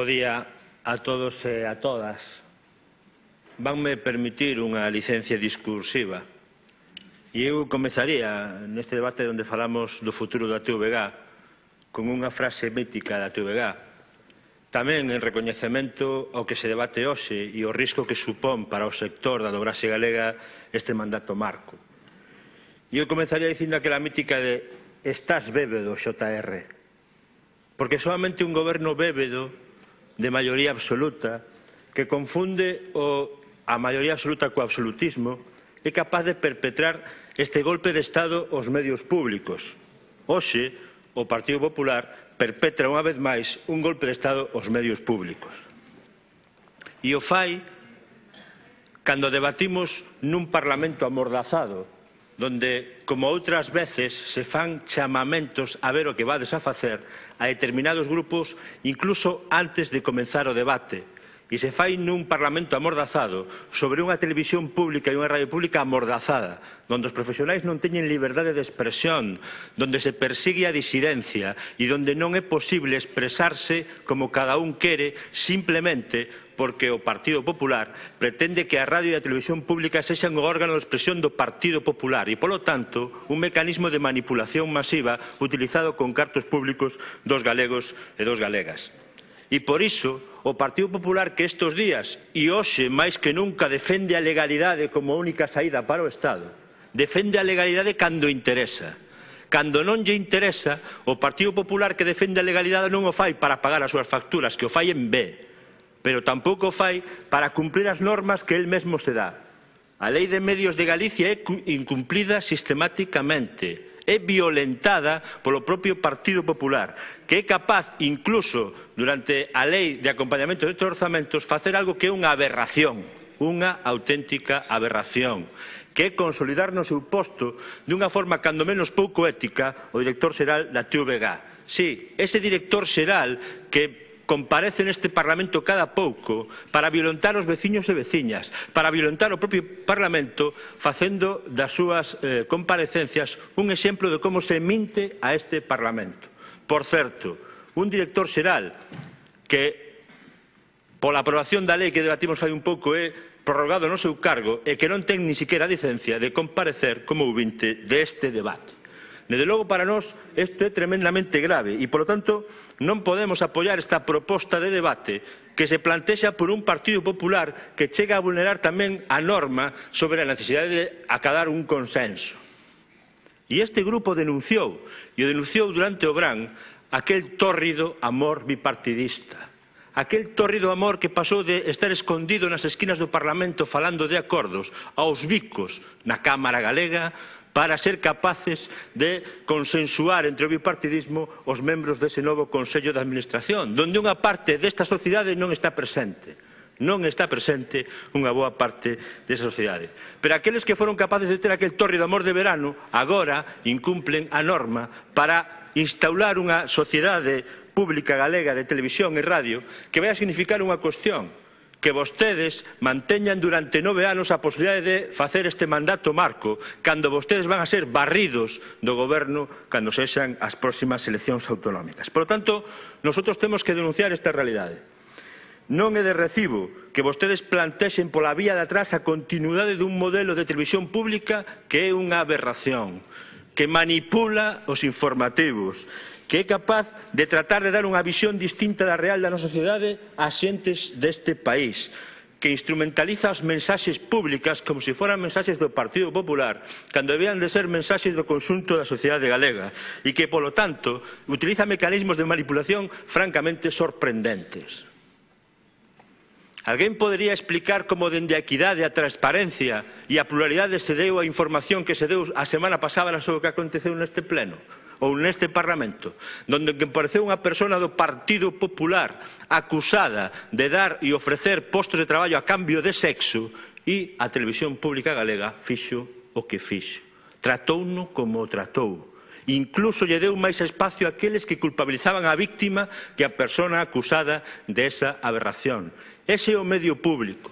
Bo día a todos e a todas. Vanme permitir unha licencia discursiva. E eu comezaría neste debate onde falamos do futuro da TVG con unha frase mítica da TVG. Tamén en recoñecemento ao que se debate hoxe e o risco que supón para o sector da dobraxe galega este mandato marco. E eu comezaría dicindo aquela mítica de estás bébedo, JR. Porque solamente un goberno bébedo de maioría absoluta que confunde a maioría absoluta co absolutismo é capaz de perpetrar este golpe de Estado aos medios públicos. Hoxe, o Partido Popular perpetra unha vez máis un golpe de Estado aos medios públicos. E o fai cando debatimos nun Parlamento amordazado, donde, como outras veces, se fan chamamentos a ver o que vades a facer a determinados grupos, incluso antes de comenzar o debate. E se fai nun Parlamento amordazado sobre unha televisión pública e unha radio pública amordazada, donde os profesionais non teñen liberdade de expresión, donde se persigue a disidencia e donde non é posible expresarse como cada un quere simplemente porque o Partido Popular pretende que a radio e a televisión pública sexan o órgano de expresión do Partido Popular e, polo tanto, un mecanismo de manipulación masiva utilizado con cartos públicos dos galegos e dos galegas. E por iso, o Partido Popular que estes días e hoxe máis que nunca defende a legalidade como única saída para o Estado, defende a legalidade cando interesa. Cando non lle interesa, o Partido Popular que defende a legalidade non o fai para pagar as súas facturas, que o fai en B, pero tampouco o fai para cumprir as normas que el mesmo se dá. A Lei de Medios de Galicia é incumplida sistematicamente. É violentada polo propio Partido Popular, que é capaz, incluso durante a lei de acompañamento destes orzamentos, facer algo que é unha aberración, unha auténtica aberración, que é consolidar no seu posto dunha forma cando menos pouco ética o director xeral da TVG. Sí, ese director xeral que comparece neste Parlamento cada pouco para violentar os veciños e veciñas, para violentar o propio Parlamento, facendo das súas comparecencias un exemplo de como se minte a este Parlamento. Por certo, un director xeral que, pola aprobación da lei que debatimos fai un pouco, é prorrogado no seu cargo e que non ten ni siquiera a licencia de comparecer como ouvinte deste debate. Desde logo, para nós, isto é tremendamente grave e, polo tanto, non podemos apoiar esta proposta de debate que se plantexa por un Partido Popular que chega a vulnerar tamén a norma sobre a necesidade de acadar un consenso. E este grupo denunciou, e o denunciou durante o verán, aquel tórrido amor bipartidista. Aquel tórrido amor que pasou de estar escondido nas esquinas do Parlamento falando de acordos aos bicos na Cámara Galega para ser capaces de consensuar entre o bipartidismo os membros dese novo Consello de Administración, donde unha parte desta sociedade non está presente. Non está presente unha boa parte desa sociedade. Pero aqueles que foron capaces de ter aquel tórrido amor de verano, agora incumplen a norma para instaurar unha sociedade pública galega de televisión e radio que vai a significar unha cuestión, que vostedes manteñan durante 9 anos a posibilidade de facer este mandato marco cando vostedes van a ser barridos do goberno cando sexan as próximas eleccións autonómicas. Por lo tanto, nosotros temos que denunciar esta realidade. Non é de recibo que vostedes plantexen pola vía de atrás a continuidade dun modelo de televisión pública que é unha aberración, que manipula os informativos, que é capaz de tratar de dar unha visión distinta da real da nosa sociedade ás xentes deste país, que instrumentaliza as mensaxes públicas como se foran mensaxes do Partido Popular, cando debían de ser mensaxes do conxunto da sociedade galega, e que, polo tanto, utiliza mecanismos de manipulación francamente sorprendentes. Alguén podería explicar como dende a equidade, a transparencia e a pluralidade se deu a información que se deu a semana pasada sobre o que aconteceu neste pleno? Ou neste Parlamento, donde compareceu unha persona do Partido Popular acusada de dar e ofrecer postos de traballo a cambio de sexo e a televisión pública galega fixo o que fixo. Tratouno como o tratou. Incluso lle deu máis espacio a aqueles que culpabilizaban a víctima que a persona acusada desa aberración. Ese é o medio público.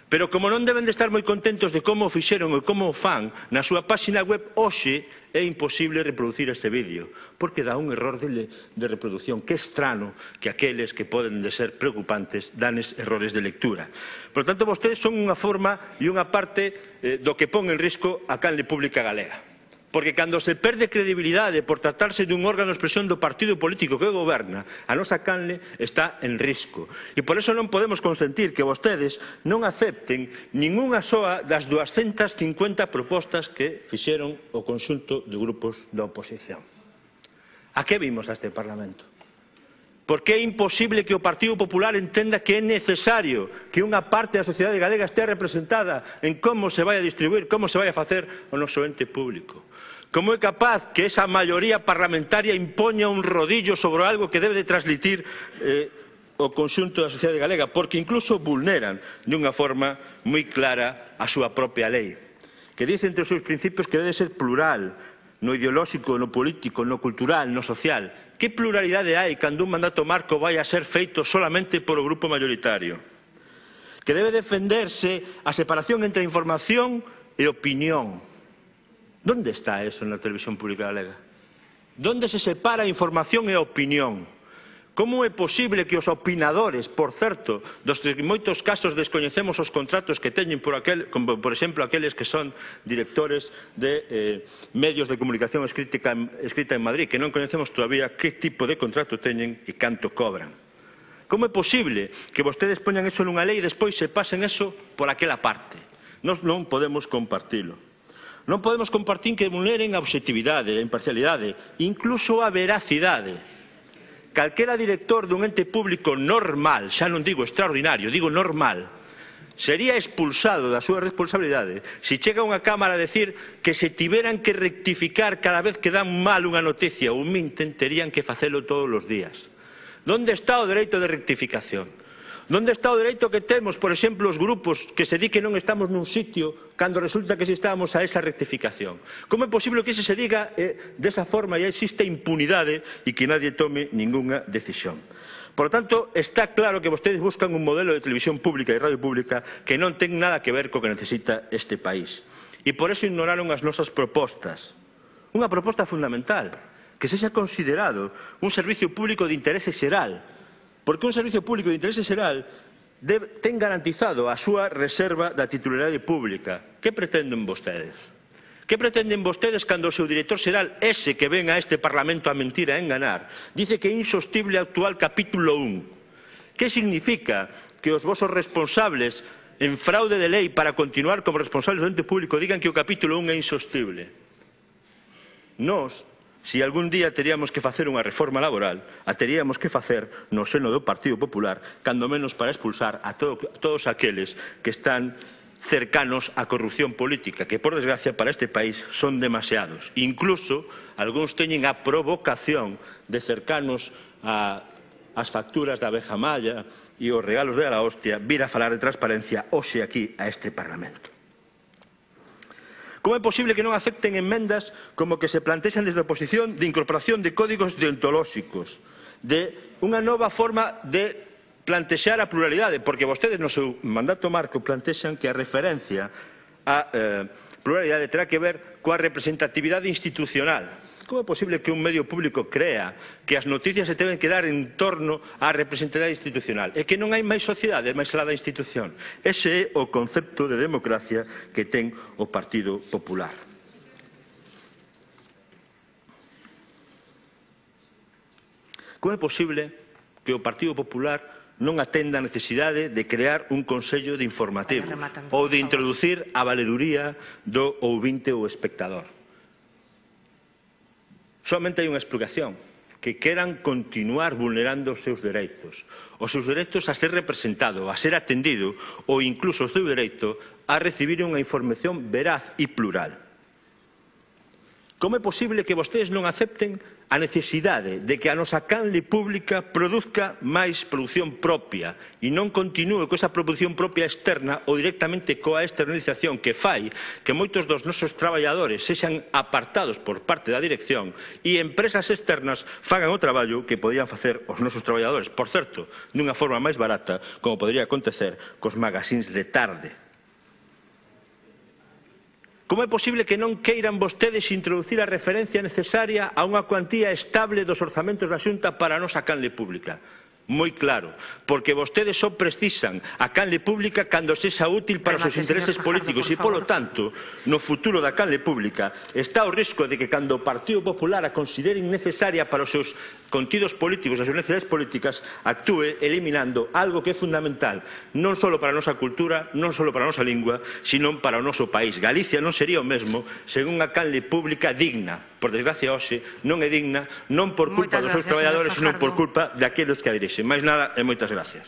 Pero como non deben de estar moi contentos de como o fixeron e como o fan na súa páxina web, hoxe é imposible reproducir este vídeo, porque dá un error de reproducción, que é estrano que aqueles que poden de ser preocupantes danes errores de lectura. Por tanto, vostedes son unha forma e unha parte do que pon en risco a canle pública galega. Porque cando se perde credibilidade por tratarse dun órgano de expresión do partido político que goberna, a nosa canle está en risco. E por eso non podemos consentir que vostedes non acepten ningunha soa das 250 propostas que fixeron o conxunto de grupos da oposición. A que vimos a este Parlamento? Porque é imposible que o Partido Popular entenda que é necesario que unha parte da sociedade galega estea representada en como se vai a distribuir, como se vai a facer o noso ente público. Como é capaz que esa maioría parlamentaria impoña un rodillo sobre algo que debe de transmitir o conxunto da sociedade galega, porque incluso vulneran dunha forma moi clara a súa propia lei, que dice entre os seus principios que debe ser plural, no ideolóxico, no político, no cultural, no social. Que pluralidade hai cando un mandato marco vai a ser feito solamente por o grupo mayoritario? Que debe defenderse a separación entre información e opinión. ¿Dónde está eso na televisión pública galega? ¿Dónde se separa a información e a opinión? Como é posible que os opinadores, por certo, dos que en moitos casos descoñecemos os contratos que teñen como por exemplo aqueles que son directores de medios de comunicación escrita en Madrid, que non coñecemos todavía que tipo de contrato teñen e canto cobran? Como é posible que vostedes poñan eso nunha lei e despois se pasen eso por aquela parte? Nós non podemos compartilo. Non podemos compartir que vulneren a obxectividade, a imparcialidade, incluso a veracidade. Calquera director dun ente público normal, xa non digo extraordinario, digo normal, sería expulsado da súa responsabilidade se chega a unha cámara a decir que se tiveran que rectificar cada vez que dan mal unha noticia ou minten, terían que facelo todos os días. ¿Dónde está o dereito de rectificación? ¿Dónde está o dereito que temos, por exemplo, os grupos que se di que non estamos nun sitio cando resulta que si estábamos a esa rectificación? Como é posible que se diga desa forma e existe impunidade e que nadie tome ningunha decisión? Por lo tanto, está claro que vostedes buscan un modelo de televisión pública e radio pública que non ten nada que ver co que necesita este país. E por eso ignoraron as nosas propostas. Unha proposta fundamental, que sexa considerado un servicio público de interese xeral, porque un servicio público de interese xeral ten garantizado a súa reserva da titularidade pública. Que pretenden vostedes? Que pretenden vostedes cando o seu director xeral, ese que ven a este Parlamento a mentir e a enganar, dice que é insostible o actual capítulo 1? Que significa que os vosos responsables en fraude de lei para continuar como responsables do ente público digan que o capítulo 1 é insostible? Nós, se algún día teríamos que facer unha reforma laboral, a teríamos que facer no seno do Partido Popular, cando menos para expulsar a todos aqueles que están cercanos á corrupción política, que por desgracia para este país son demasiados. Incluso, algúns teñen a provocación de cercanos ás facturas da abeja malla e os regalos de la hostia, vir a falar de transparencia hoxe aquí a este Parlamento. Como é posible que non acepten enmendas como que se plantexan desde a oposición de incorporación de códigos deontolóxicos, de unha nova forma de plantexar a pluralidade, porque vostedes no seu mandato marco plantexan que a referencia á pluralidade terá que ver coa representatividade institucional. Como é posible que un medio público crea que as noticias se deben que dar en torno á representatividade institucional e que non hai máis sociedade, máis alá da institución? Ese é o concepto de democracia que ten o Partido Popular. Como é posible que o Partido Popular non atenda a necesidade de crear un consello de informativos ou de introducir a valeduría do ouvinte ou espectador? Solamente hai unha explicación, que queran continuar vulnerando os seus dereitos a ser representado, a ser atendido ou incluso o seu dereito a recibir unha información veraz e plural. Como é posible que vostedes non acepten a necesidade de que a nosa canle pública produzca máis produción propia e non continúe con esa produción propia externa ou directamente coa externalización que fai que moitos dos nosos traballadores sexan apartados por parte da dirección e empresas externas fagan o traballo que podían facer os nosos traballadores, por certo, dunha forma máis barata, como podría acontecer cos magazines de tarde. Como é posible que non queiran vostedes introducir a referencia necesaria a unha cuantía estable dos orzamentos da Xunta para a nosa canle pública? Moi claro, porque vostedes só precisan a canle pública cando sexa útil para os seus intereses políticos e, polo tanto, no futuro da canle pública está o risco de que cando o Partido Popular a considere innecesaria para os seus contidos políticos, as súas necesidades políticas, actúe eliminando algo que é fundamental non só para a nosa cultura, non só para a nosa lingua, sino para o noso país. Galicia non sería o mesmo sen unha canle pública digna. Por desgracia, hoxe non é digna, non por culpa dos seus traballadores, senón por culpa daqueles que a dirixen. Máis nada e moitas gracias.